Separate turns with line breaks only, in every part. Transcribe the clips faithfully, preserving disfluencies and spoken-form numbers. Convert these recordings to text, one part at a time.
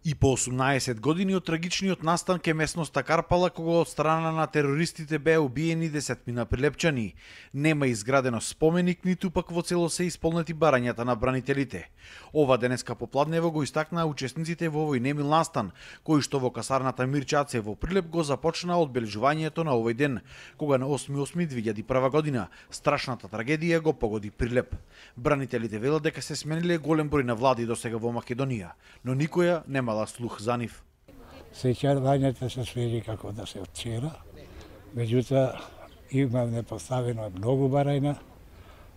И по осумнаесет години од трагичниот настан ке местноста Карпала, кога од страна на терористите беа убиени десетмина прилепчани, нема изградено споменик, ниту пак во цело се исполнети барањата на бранителите. Ова денеска попладнево го истакнаа учесниците во овој немил настан, кој што во касарната Мирче Аце во Прилеп го започна одбележувањето на овој ден, кога на осми осми две илјади и прва година страшната трагедија го погоди Прилеп. Бранителите велат дека се смениле голем број на влади досега во Македонија, но никоја нема слух за нив.
Сеќавањето се свери како да се од вчера, меѓутоа имаме поставено многу барања,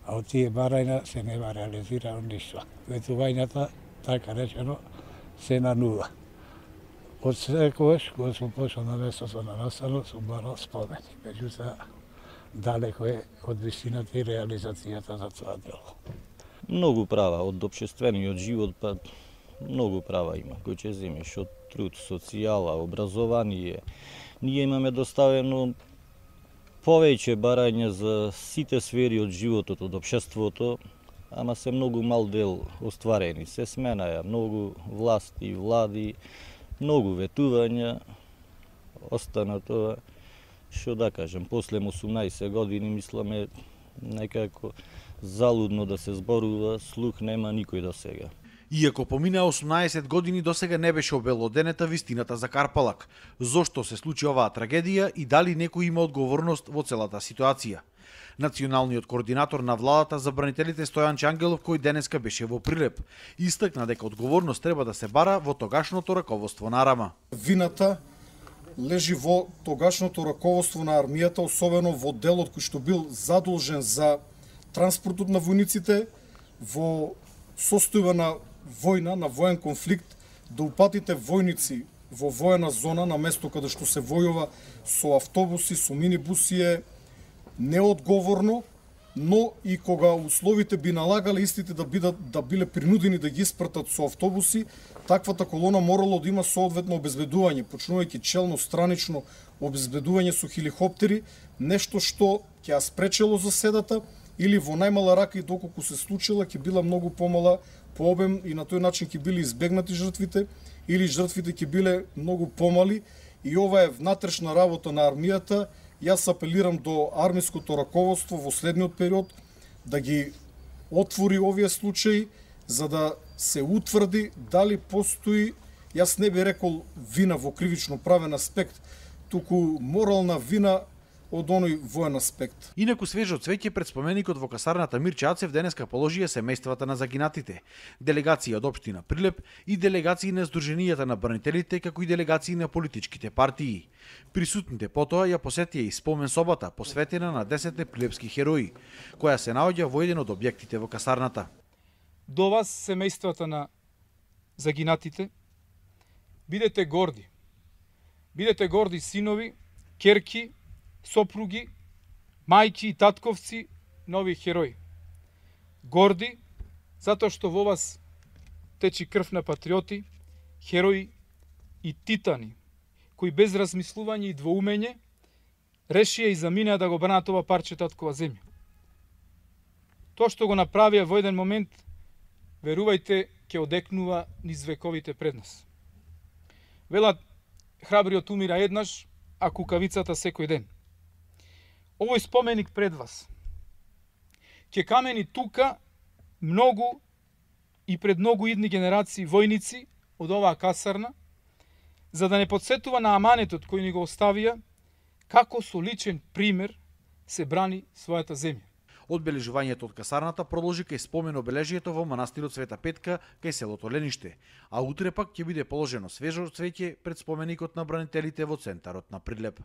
а од тие барања се нема реализирано ништо. Ветувањата, така речено, се на нула. Од секогаш, кога сум пошол на местото на настанот, сум барал спомени, меѓутоа далеко е од вистината и реализацијата за тоа дело.
Многу права од општествениот живот, па многу права има, кој ќе земеш од труд, социјала, образование. Ние имаме доставено повеќе барања за сите сфери од животот, од општеството, ама се многу мал дел остварени. Се сменаја многу власти, влади, многу ветувања, остана тоа, што да кажем, после осумнаесет години мисламе некако залудно да се зборува, слух нема никој до сега.
Иако помина осумнаесет години, досега не беше обелоденета вистината за Карпалак. Зошто се случи оваа трагедија и дали некој има одговорност во целата ситуација? Националниот координатор на владата за бранителите Стојан Чангелов, кој денеска беше во Прилеп, истакна дека одговорност треба да се бара во тогашното раководство на Арама.
Вината лежи во тогашното раководство на армијата, особено во делот кој што бил задолжен за транспортот на војниците во состојба на војна, на воен конфликт, да упатите војници во воена зона на место каде што се војува со автобуси, со минибуси е неодговорно, но и кога условите би налагале истите да бидат да биле принудени да ги испратат со автобуси, таквата колона морало да има соодветно обезбедување, почнувајќи челно, странично обезбедување со хеликоптери, нешто што ќе ја спречело заседата или во најмала рака и доколку се случила ќе била многу помала по обем и на тој начин ќе били избегнати жртвите или жртвите ќе биле многу помали и ова е внатрешна работа на армијата. Јас апелирам до армиското раководство во следниот период да ги отвори овие случаи за да се утврди дали постои, јас не би рекол вина во кривично правен аспект, туку морална вина од оној воен аспект.
Инаку свежо цвеќе пред споменикот во касарната Мирче Ацев денеска положија семејствата на загинатите, делегации од општина Прилеп и делегации на Сдруженијата на бранителите, како и делегации на политичките партии. Присутните потоа ја посетија и спомен собата посветена на десетте прилепски херои, која се наоѓа во еден од објектите во касарната.
До вас, семејствата на загинатите, бидете горди. Бидете горди синови, ќерки, сопруги, мајки и татковци на овие херои. Горди, затоа што во вас течи крв на патриоти, херои и титани, кои без размислување и двоумење решија и заминеа да го бранат ова парче таткова земја. Тоа што го направија во еден момент, верувајте, ќе одекнува низ вековите пред нас. Велат, храбриот умира еднаш, а кукавицата секој ден. Овој споменик пред вас ќе камени тука многу и пред многу идни генерации војници од оваа касарна, за да не подсетува на аманетот кој ни го оставија, како со личен пример се брани својата земја.
Одбележувањето од касарната продолжи кај спомен обележието во манастирот Света Петка кај селото Лениште, а утре пак ќе биде положено свежо цвеќе пред споменикот на бранителите во центарот на Прилеп.